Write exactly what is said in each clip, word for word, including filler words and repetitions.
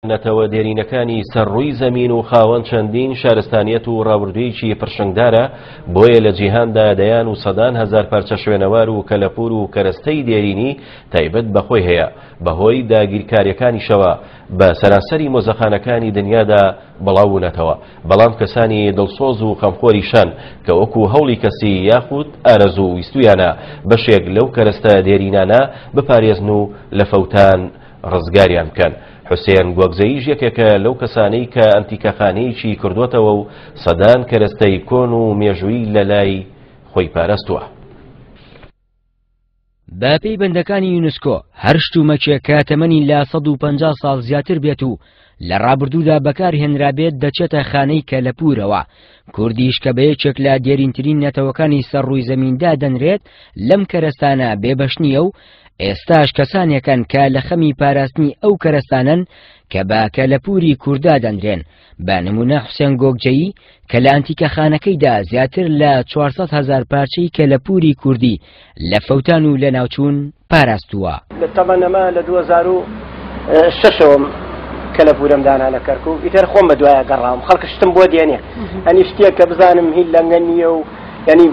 نەتەوە دێرینەکانی سەر ڕووی زەمین و خاوەن چەندین شارستانیەت و ڕابردوویەکی پرشنگدارە، بۆیە لە جیهاندا دەیان و سەدان هەزار پارچە شوێنەوار و کەلەپوور و کەرەستەی دێرینی تایبەت بەخۆی هەیە. بەهۆی داگیرکاریەکانیشەوە بە سەرانسەری مۆزەخانەکانی دنیادا بڵاوبوونەتەوە، بەڵام کەسانی دڵسۆز و خەمخۆریشان کە وەکو هەوڵی کەسی یاخود ئارەزوو ویستویانە بەشێک لەو کەرەستە دێرینانە بپارێزن و لە فەوتان ڕزگاریان بکەن. حوسێن گۆگزەییش یەکێکە لەو کەسانەی کە ئەنتیکەخانەیەکی کردووەتەوە و سەدان کەرەستەی کۆن و مێژوویی لە لای خۆی پاراستووە. بە پێی بەندەکانی یونسکۆ هەر شتومەکێک کە تەمەنی لە سەد و پەنجا ساڵ زیاتر بێت و لە ڕابردوودا بەکارهێنرابێت دەچێتە خانەی کەلەپوورەوە. کوردیش کە بە یەکێک لە دێرینترین نەتەوەکانی سەر ڕووی زەمیندا دەنرێت لەم کەرەستانە بێبەش نییە و ئێستاش کەسانێکن کە لە خەمی پاراستنی ئەو کەرەستانەن کە بە کەلەپووری کووردا دەنرێن. بە نمونە حوسێن گۆگجەیی کە لە ئەنتیکەخانەکەیدا زیاتر لە چوار سەد هەزار پارچەی کەلەپووری کوردی لە فەوتان و لە ناوچوون پاراستووە. تەمەنەمە لە دوو هەزار و شەشەوە کەلەپوورم دانا لە کەرکوو، ئیتر خۆم بە دوایە گەڕاوم، خەڵک شتم بۆ دێنێ، ئەنی شتێک کە بزانم هی لەنگە نییە و ینی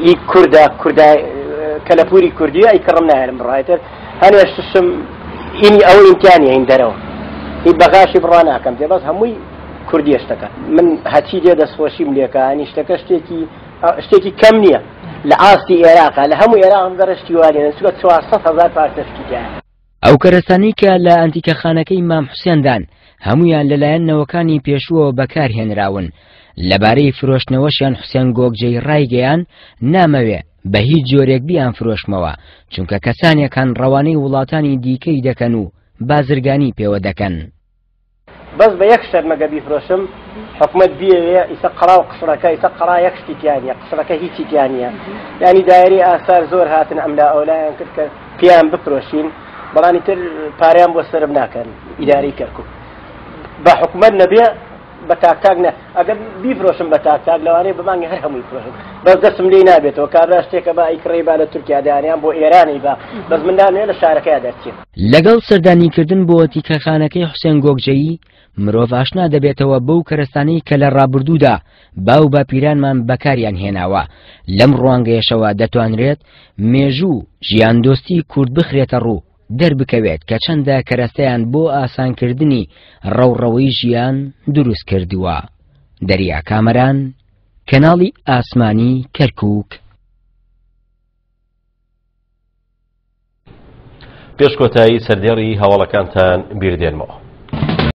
هی کوردە، کوردای کەلەپووری کوردیە، ئەی کڕم ناهێنم بڕایتر هەنێ شتشم ئینی ئەوە ئیمتیانی هین دەرەوە هی بەغاشی بڕوا ناکەم تێ، بەس هەمووی کوردیە شتەکە. من هەچی دێ دەستخۆشیم لێکە، ئەنی شتەکە شتێکی شتێکی کەم نییە لە ئاستی عێراقا، لە هەموو عێراق گەڕشتی وانێنن، چونکە چوار سەد هەزار پارچە شتی تیایە. ئەو کەرەستانەی کە لە ئەنتیکەخانەکەی مام حوسێندان هەمویان لەلایەن نەوەکانی پێشووەوە بەکارهێنراون. لەبارەی فرۆشتنەوەشیان حوسێن گۆگجەی ڕایگەیان نامەوێ بە هیچ جۆرێک بیان فرۆشمەوە، چونکە کەسانێکان ڕەوانەی وڵاتانی دیکەی دەکەن و بازرگانی پێوە دەکەن. بەس بە یەک شەرت مەگە بیفرۆشم، حکومەت بیەوێ ئیسا قەڵا و قسڕەکە، ئیسا قەڵا یەک شتی تیا نییە، قسڕەکە هیچی تیا نییە. یعنی دایرەی ئاسار زۆر هاتن ئەملا ئەولایان کرد کە پێیان بفرۆشین، بەڵام ئیتر پارەیان بۆ سەرم ناکەن ئیدارەی کەرکوو. بە حکومەت نەبێ بە تاک تاک نە، ئەگەر بیفرۆشم بە تاک تاک لەوانەیە بە مانگی هەر هەمووی فرۆشم، بەس دەستم لێی نابێتەوە. کابرا شتێکە با ئەیکڕێ با لە تورکیا دانیان بۆ ئێرانی با، بەس من نامەوێ لە شارەکەیا دەرچێم. لەگەڵ سەردانیکردن بۆ تیکەخانەکەی حوسێن گۆگجەیی مرۆڤ ئاشنا دەبێتەوە بەو کەرەستانەی کە لە ڕابردوودا باو باپیرانمان بەکاریان هێناوە. لەم ڕوانگەیەشەوە دەتوانرێت مێژوو ژیاندۆستی کورد بخرێتە ڕوو، دەربکەوێت کە چەندە کەرەستەیان بۆ ئاسانکردنی ڕەوڕەوەی ژیان دروست کردووە. دەریا کامەران، کەناڵی ئاسمانی کەرکووک. پێش کۆتایی سەردێڕی هەواڵەکانتان بیردێنمەوە.